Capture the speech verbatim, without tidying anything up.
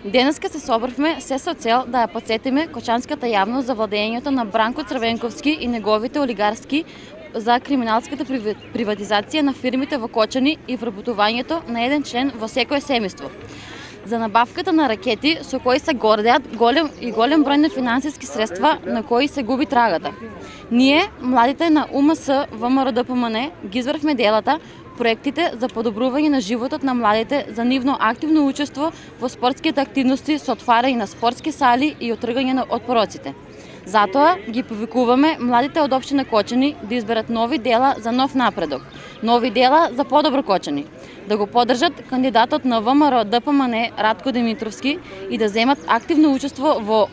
Денеска се собравме се со цел да ја потсетиме кочанската јавност за владењето на Бранко Црвенковски и неговите олигарски за криминалската приватизација на фирмите во Кочани и вработувањето на еден член во секое семејство. За набавката на ракети со кои се гордеат голем и голем број на финансиски средства на кои се губи трагата. Ние, младите на У М С Во М Р Д П М Н, ги избравме делата, проектите за подобрување на животот на младите за нивно активно учество во спортските активности со отварање на спортски сали и отргање од пороците. Затоа ги повикуваме младите од општина Кочани да изберат нови дела за нов напредок, нови дела за подобро Кочани, да го поддржат кандидатот на В М Р Д П М Н Ратко Димитровски и да земат активно учество во